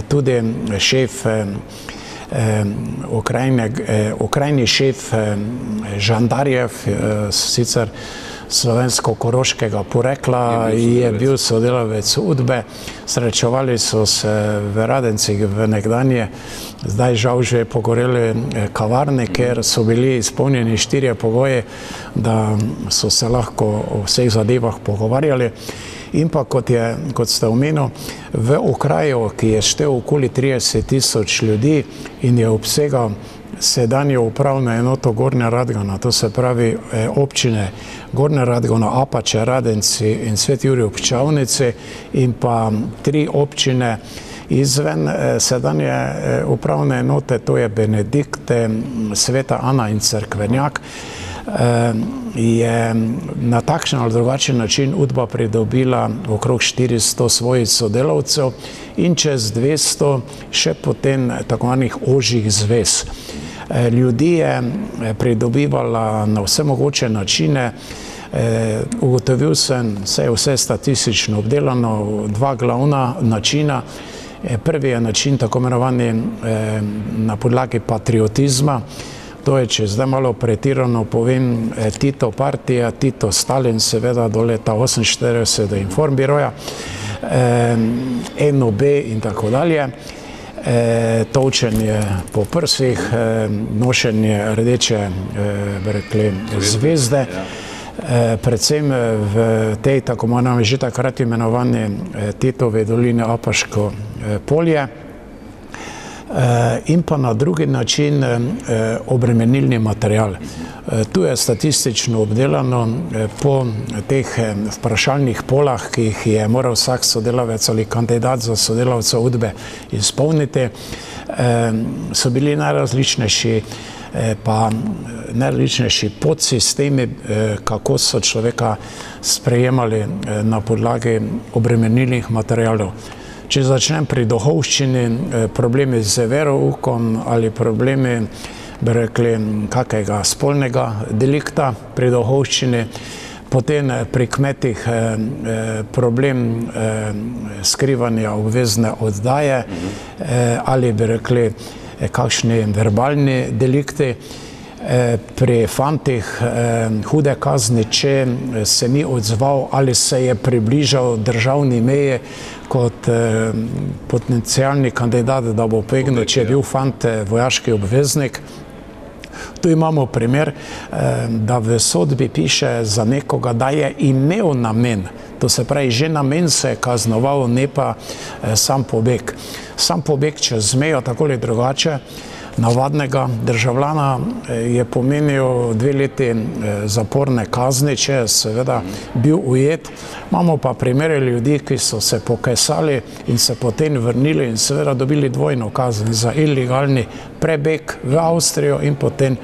tudi šef okrajni šef žandarjev, sicer slovensko-koroškega porekla, je bil sodelavec Udbe. Srečevali so se v Radencih v nekdanje, zdaj žal že pogoreli kavarne, ker so bili izpolnjeni štirje pogoji, da so se lahko o vseh zadevah pogovarjali. In pa, kot je, kot ste omenili, v okraju, ki je štel okoli trideset tisoč ljudi in je obsegal sedanjo upravno enoto Gornja Radgona, to se pravi občine Gornja Radgona, Apače, Radenci in Sveti Jurij ob Čavnici in pa tri občine, Izven sedanje upravne enote, to je Benedikt, Sveta Ana in Cerkvenjak, je na takšen ali drugačen način Udba pridobila okrog štiristo svojih sodelavcev in čez dvesto še potem tako zvanih ožjih zvez. Ljudi je pridobivala na vse mogoče načine. Ugotovil sem, vse je vse statistično obdelano, dva glavna načina. Prvi je način tako imenovani na podlagi patriotizma. To je, če zdaj malo pretirano povem, Tito partija, Tito Stalin, seveda do leta oseminštirideset Informbiroja, N O B in tako dalje. Tolčenje po prsih, nošenje rdeče, bi rekli, zvezde, predvsem v tej, tako moramo že takrat imenovani Titove doline Apaško polje, in pa na drugi način obremenilni material. Tu je statistično obdelano po teh vprašalnih polah, ki jih je moral vsak sodelavec ali kandidat za sodelavca Udbe izpolniti, so bili najrazličnejši pa najrazličnejši podsistemi, kako so človeka sprejemali na podlagi obremenilnih materialov. Če začnem pri duhovščini, problemi z veroukom ali problemi, bi rekli, kakega spolnega delikta pri duhovščini, potem pri kmetih problem skrivanja obvezne oddaje ali, bi rekli, kakšni verbalni delikti. Pri fantih hude kazni, če se ni odzval ali se je približal državni meji kot potencialni kandidat, da bo pobegnil, če je bil fant vojaški obveznik. Tu imamo primer, da v sodbi piše za nekoga, da je imel namen, to se pravi, že namen se je kaznoval, ne pa sam pobeg. Sam pobeg čez mejo, tako ali drugače, navadnega državljana je pomenil dve leti zaporne kazni, če je seveda bil ujet. Imamo pa primere ljudi, ki so se pokasali in se potem vrnili in seveda dobili dvojno kazen za ilegalni prebeg v Avstrijo in potem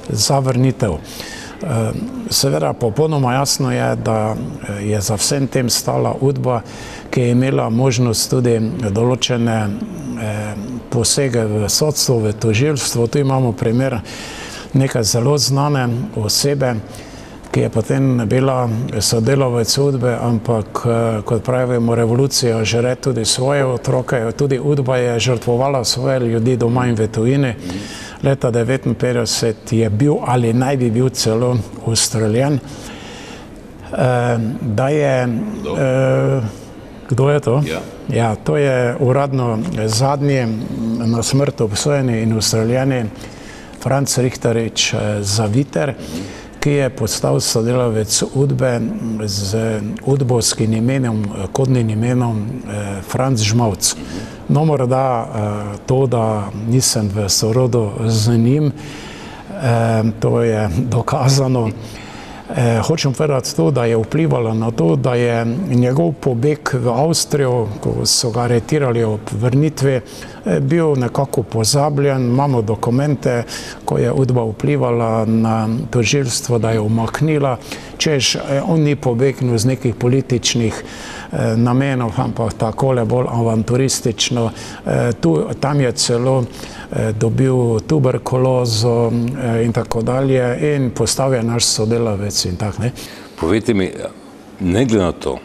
za vrnitev. Seveda popolnoma jasno je, da je za vsem tem stala Udba, ki je imela možnost tudi določene posege v sodstvo, v tožilstvo. Tu imamo primer neke zelo znane osebe, ki je potem bila sodelavec Udbe, ampak, kot pravimo, revolucija žere tudi svoje otroke. Tudi Udba je žrtvovala svoje ljudi doma in v tujini. Leta devetinpetdeset je bil ali naj bi bil celo ustreljen. Da je... Kdo je to? Ja, to je uradno zadnji na smrt obsojeni in ustreljeni Franc Richterič Zaviter, ki je postal sodelavec Udbe z udbovskim imenom, kodnim imenom Franc Žmavc. No, morda to, da nisem v sorodu z njim, to je dokazano. Hočem povedati to, da je vplivalo na to, da je njegov pobeg v Avstrijo, ko so ga aretirali ob vrnitvi, bil nekako pozabljen. Imamo dokumente, ko je Udba vplivala na tožilstvo, da je umaknila, češ on ni pobegnil z nekih političnih namenov, ampak takole bolj avanturistično. Tam je celo dobil tuberkulozo in tako dalje in postal je naš sodelavec in tak, ne. Povejte mi, ne glede na to,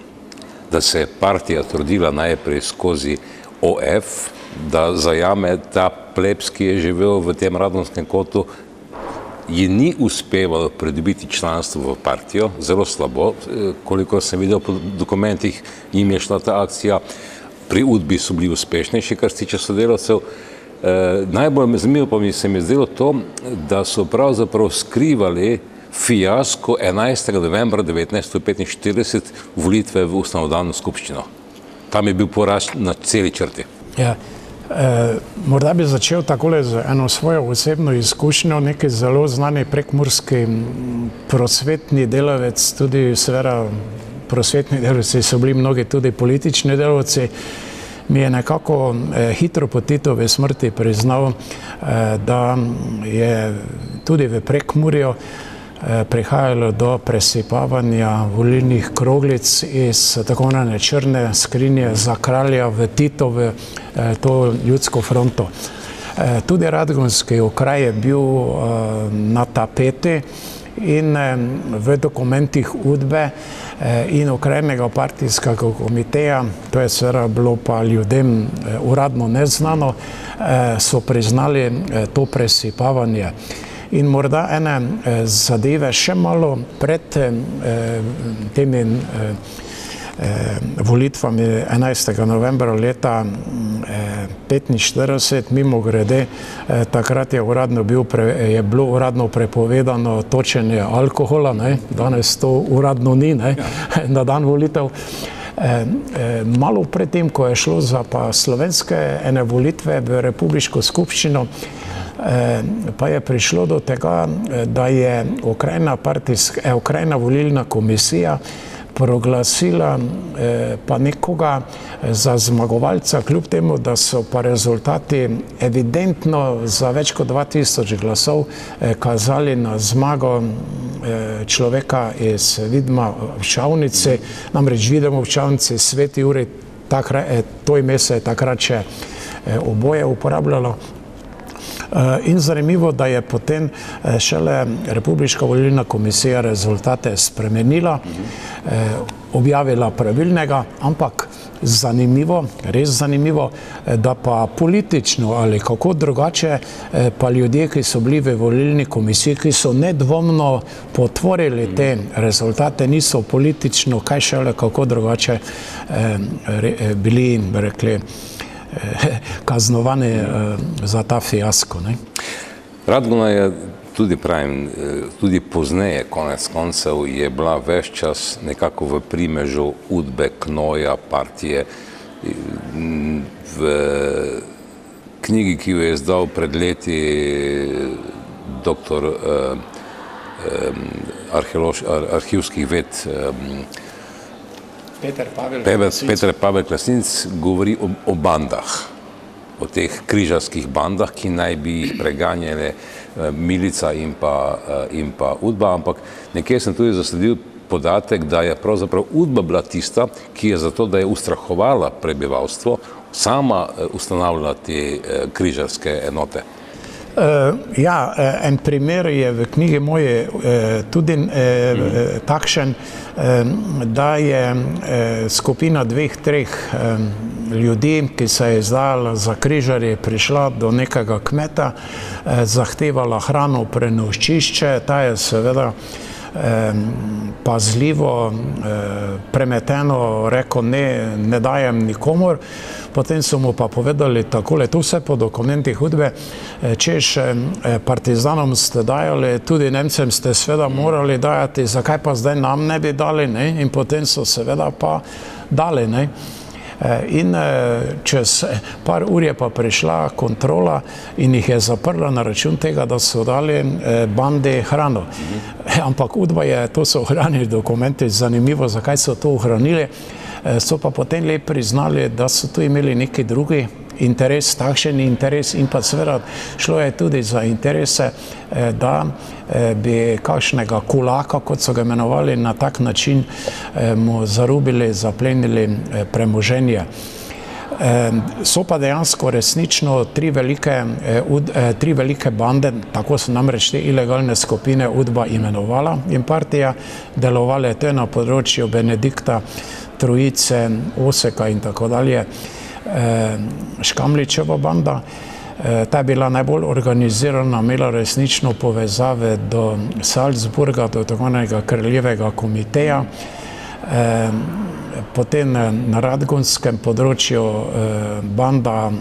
da se je partija trudila najprej skozi O F, da zajame ta plebs, ki je živel v tem Radonskem kotu, ji ni uspevalo pridobiti članstvo v partijo, zelo slabo, koliko sem videl po dokumentih, jim je šla ta akcija. Pri Udbi so bili uspešnejši, kar se tiče sodelavcev. Najbolj zanimivo pa mi se mi zdelo to, da so pravzaprav skrivali fiasko enajstega novembra devetnajststo petinštirideset volitve v ustanovno skupščino. Tam je bil poraz na celi črti. Ja. Morda bi začel takole z eno svojo osebno izkušnjo. Neki zelo znani prekmurski prosvetni delavec, tudi seveda prosvetni delavci so bili mnogi tudi politični delavci, mi je nekako hitro po Titovi smrti priznal, da je tudi v Prekmurju prihajalo do presipavanja volilnih kroglic iz tako imenovane črne skrinje za kralja v Titovo to ljudsko fronto. Tudi radgonski okraj je bil na tapeti in v dokumentih Udbe in okrajnega partijskega komiteja, to je seveda bilo pa ljudem uradno neznano, so priznali to presipavanje. In morda ene zadeve še malo pred temi volitvami enajstega novembra leta petinštirideset, mimo grede, takrat je uradno bil, je bilo uradno prepovedano točenje alkohola, ne, danes to uradno ni, ne, na dan volitev. Malo pred tem, ko je šlo za pa slovenske ene volitve v republiško skupščino, pa je prišlo do tega, da je okrajna partijska, okrajna volilna komisija proglasila pa nekoga za zmagovalca, kljub temu, da so pa rezultati evidentno za več kot dva tisoč glasov kazali na zmago človeka iz Vidma v Čavnici, namreč Videm v Čavnici, Sveti Jurij, to ime se je takrat še oboje uporabljalo. In zanimivo, da je potem šele Republiška volilna komisija rezultate spremenila, objavila pravilnega, ampak zanimivo, res zanimivo, da pa politično ali kako drugače pa ljudje, ki so bili v volilni komisiji, ki so nedvomno potvorili te rezultate, niso politično, kaj šele kako drugače bili, rekli, kaznovani za ta fiasko. Radgona je tudi, pravim, tudi pozneje, konec koncev, je bila ves čas nekako v primežu Udbe, Knoja, partije. V knjigi, ki jo je izdal pred leti doktor arhivskih ved Peter Pavel Peter Pavel Klasninc govori o, o bandah, o teh križarskih bandah, ki naj bi jih preganjale milica in pa, in pa Udba, ampak nekje sem tudi zasledil podatek, da je pravzaprav Udba bila tista, ki je zato, da je ustrahovala prebivalstvo, sama ustanavljala te križarske enote. Ja, en primer je v knjigi moje tudi takšen, da je skupina dveh, treh ljudi, ki se je izdala za križarje, prišla do nekega kmeta, zahtevala hrano, prenočišče, ta je seveda pazljivo, premeteno rekel, ne, ne dajem nikomor. Potem so mu pa povedali takole, tu vse po dokumentih Udbe, češ partizanom ste dajali, tudi Nemcem ste seveda morali dajati, zakaj pa zdaj nam ne bi dali, ne? In potem so seveda pa dali, ne? In čez par ur je pa prišla kontrola in jih je zaprla na račun tega, da so dali bandi hrano. Ampak Udba je, to so ohranili dokumenti, zanimivo, zakaj so to ohranili, so pa potem le priznali, da so tu imeli neki drugi interes, takšen interes in pa seveda šlo je tudi za interese, da bi kakšnega kulaka, kot so ga imenovali, na tak način mu zarubili, zaplenili premoženje. So pa dejansko resnično tri velike, tri velike bande, tako so namreč te ilegalne skupine Udba imenovala in partija, delovale to na področju Benedikta, Trojice, Oseka in tako dalje, Škamličeva banda. Ta je bila najbolj organizirana, imela resnično povezave do Salzburga, do tako imenovanega kraljevega komiteja. Potem na radgonskem področju banda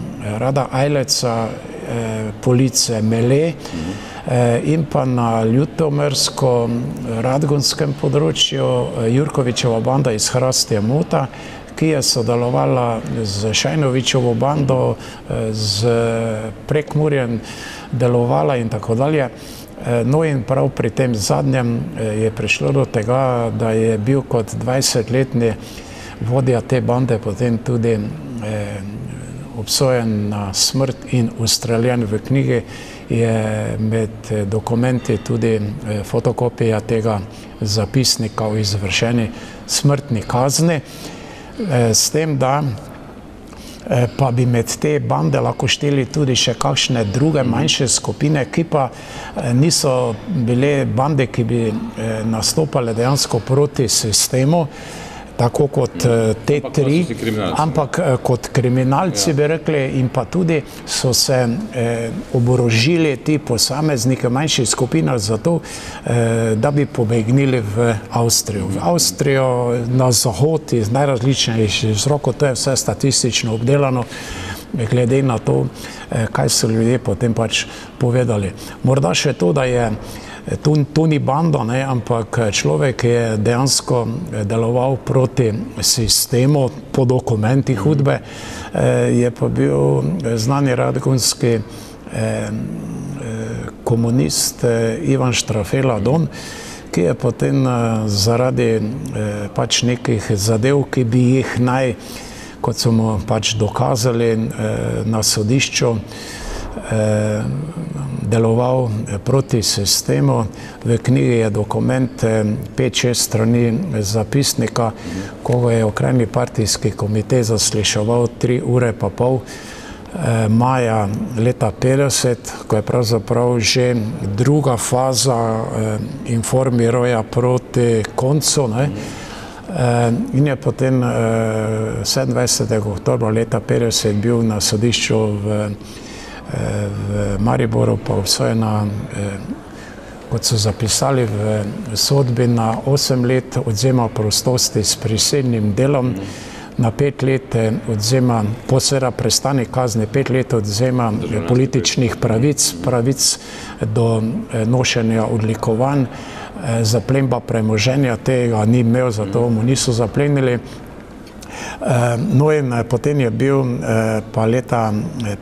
Rada Ajleca, Police Mele, in pa na ljutomersko-radgonskem področju Jurkovičeva banda iz Hrastja Mota, ki je sodelovala z Šajnovičevo bando, z Prekmurjem delovala in tako dalje. No in prav pri tem zadnjem je prišlo do tega, da je bil kot dvajsetletni vodja te bande potem tudi obsojen na smrt in ustreljen. V knjigi je med dokumenti tudi fotokopija tega zapisnika o izvršeni smrtni kazni, s tem, da pa bi med te bande lahko šteli tudi še kakšne druge manjše skupine, ki pa niso bile bande, ki bi nastopale dejansko proti sistemu, tako kot te tri, ampak kot kriminalci bi rekli, in pa tudi so se oborožili ti posamezniki v manjših skupinah zato, da bi pobegnili v Avstrijo. V Avstrijo, na zahod, iz najrazličnejših vzrokov, to je vse statistično obdelano, glede na to, kaj so ljudje potem pač povedali. Morda še to, da je To, to ni banda, ne, ampak človek, ki je dejansko deloval proti sistemu po dokumentih hudbe, je pa bil znani radgonski komunist Ivan Štrafela Don, ki je potem zaradi pač nekih zadev, ki bi jih naj, kot so mu pač dokazali na sodišču, deloval proti sistemu. V knjigi je dokument pet šest strani zapisnika, ko ga je okrajni partijski komitej zasliševal tri ure pa pol maja leta petdeset, ko je pravzaprav že druga faza informiroja proti koncu, ne? In je potem sedemindvajsetega oktobra leta petdeset bil na sodišču v v Mariboru pa obsojena, kot so zapisali v sodbi, na osem let odvzema prostosti s prisilnim delom, na pet let odvzema, po seveda prestane kazni, pet let odvzema političnih pravic, pravic do nošenja odlikovanj, zaplemba premoženja, tega ni imel, zato mu niso zaplenili. No in potem je bil pa leta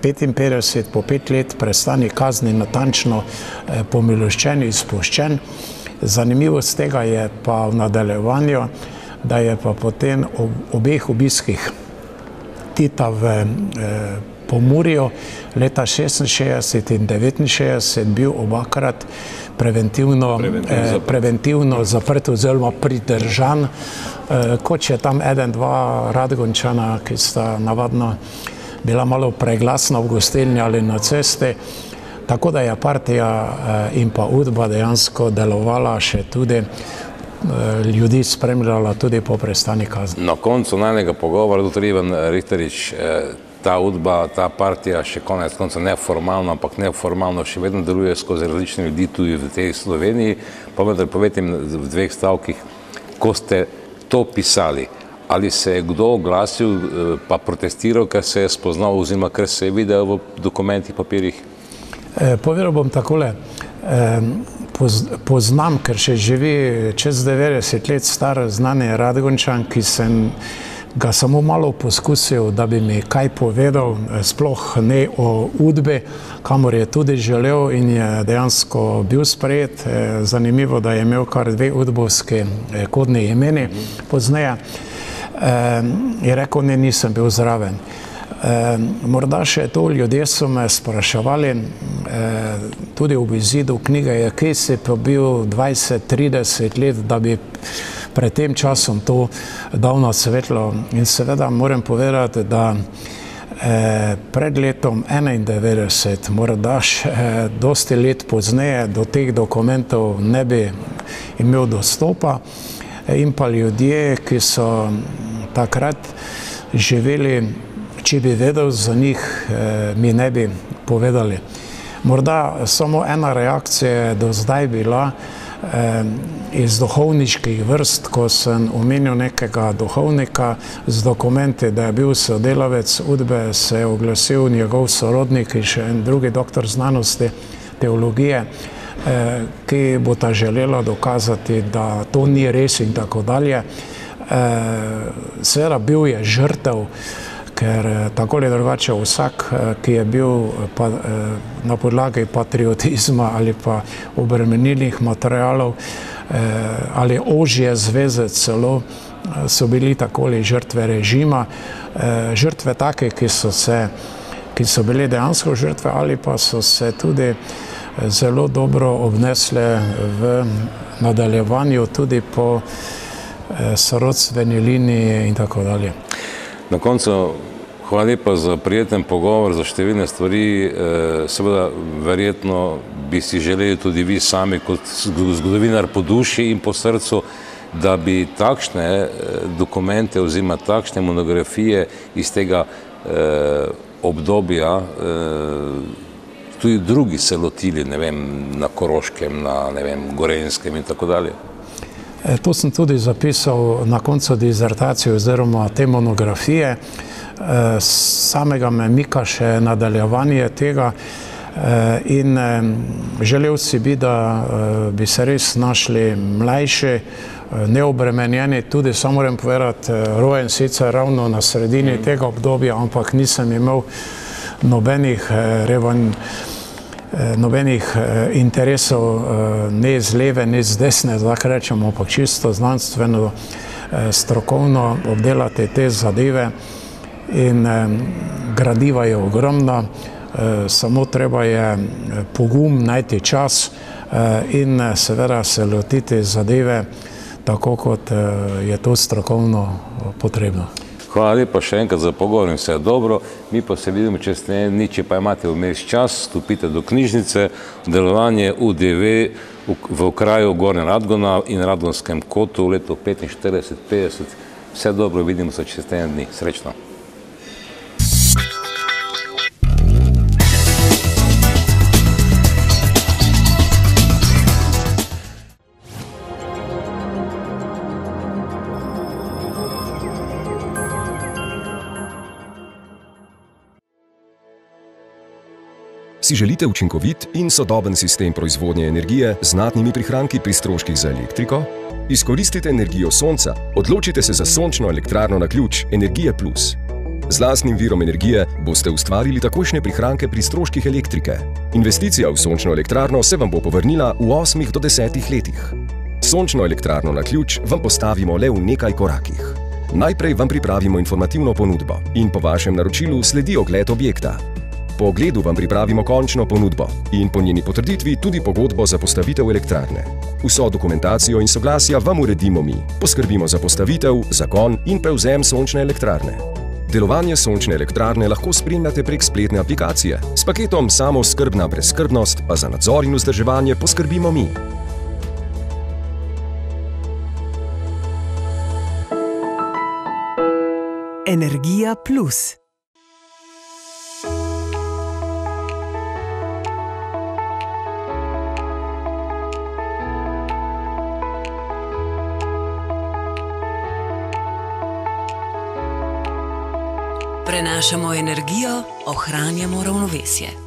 petinpetdeset, po pet let prestane kazni, natančno pomiloščen, izpuščen. Zanimivost tega je pa v nadaljevanju, da je pa potem ob obeh obiskih Tita v Pomurju leta šestinšestdeset in devetinšestdeset bil obakrat preventivno, eh, preventivno zaprt oziroma pridržan, eh, kot je tam eden, dva Radgončana, ki sta navadno bila malo preglasna v gostilni ali na cesti, tako da je partija eh, in pa Udba dejansko delovala še tudi, eh, ljudi spremljala tudi po prestani kazni. Na koncu najnega pogovora, doktor Ivan Richterič, eh, ta Udba, ta partija še konec konca neformalno, ampak neformalno še vedno deluje skozi različne ljudi tudi v tej Sloveniji. Pa vendar povejte mi v dveh stavkih, ko ste to pisali, ali se je kdo oglasil pa protestiral, ker se je spoznal oziroma ker se je videl v dokumentih, papirjih? Eh, povedal bom takole, eh, poz, poznam, ker še živi čez devetdeset let star znani Radgončan, ki sem ga samo malo poskusil, da bi mi kaj povedal, sploh ne o Udbi, kamor je tudi želel in je dejansko bil sprejet. Zanimivo, da je imel kar dve udbovski kodni imeni pozneje. Je rekel, ne, nisem bil zraven. Morda še to, ljudje so me spraševali, tudi ob izidu knjige, je, kje si pa bil dvajset trideset let, da bi pred tem časom to dal na svetlo. In seveda moram povedati, da eh, pred letom enaindevetdeset, morda še eh, dosti let pozneje, do teh dokumentov ne bi imel dostopa, eh, in pa ljudje, ki so takrat živeli, če bi vedel za njih, eh, mi ne bi povedali. Morda samo ena reakcija je do zdaj bila, iz duhovniških vrst, ko sem omenil nekega duhovnika z dokumenti, da je bil sodelavec Udbe, se je oglasil njegov sorodnik in še en drugi doktor znanosti teologije, ki bo ta želela dokazati, da to ni res in tako dalje. Seveda bil je žrtev, ker tako ali drugače vsak, ki je bil pa, na podlagi patriotizma ali pa obremenilnih materialov ali ožje zveze celo so bili takoli žrtve režima, žrtve take, ki so se, ki so bile dejansko žrtve ali pa so se tudi zelo dobro obnesle v nadaljevanju tudi po sorodstveni liniji in tako dalje. Na koncu, hvala lepa za prijeten pogovor, za številne stvari. Seveda, verjetno bi si želeli tudi vi sami kot zgodovinar po duši in po srcu, da bi takšne dokumente oziroma takšne monografije iz tega obdobja tudi drugi se lotili, ne vem, na Koroškem, na, ne vem, Gorenjskem in tako dalje. To sem tudi zapisal na koncu dizertacije oziroma te monografije. Samega me mika še nadaljevanje tega in želel si bi, da bi se res našli mlajši, neobremenjeni, tudi samo moram povedati, rojen sicer ravno na sredini tega obdobja, ampak nisem imel nobenih revanj, nobenih interesov, ne z leve, ne z desne, tako rečemo, ampak čisto znanstveno, strokovno obdelati te zadeve in gradiva je ogromna, samo treba je pogum, najti čas in seveda se lotiti zadeve tako, kot je to strokovno potrebno. Hvala lepa še enkrat za pogovor in vse dobro. Mi pa se vidimo čez dni, če pa imate vmes čas, stopite do knjižnice, delovanje U D V v okraju Gornja Radgona in Radgonskem kotu v letu petinštirideset petdeset. Vse dobro, vidimo se čez dni. Srečno. Si želite učinkovit in sodoben sistem proizvodnje energije z znatnimi prihranki pri stroških za elektriko? Izkoristite energijo sonca, odločite se za sončno elektrarno na ključ Energija plus. Z lastnim virom energije boste ustvarili takojšnje prihranke pri stroških elektrike. Investicija v sončno elektrarno se vam bo povrnila v osmih do desetih letih. Sončno elektrarno na ključ vam postavimo le v nekaj korakih. Najprej vam pripravimo informativno ponudbo in po vašem naročilu sledi ogled objekta. Po ogledu vam pripravimo končno ponudbo in po njeni potrditvi tudi pogodbo za postavitev elektrarne. Vso dokumentacijo in soglasja vam uredimo mi. Poskrbimo za postavitev, zagon in prevzem sončne elektrarne. Delovanje sončne elektrarne lahko spremljate prek spletne aplikacije. S paketom Samooskrbna brezskrbnost pa za nadzor in vzdrževanje poskrbimo mi. Energija plus. Prenašamo energijo, ohranjamo ravnovesje.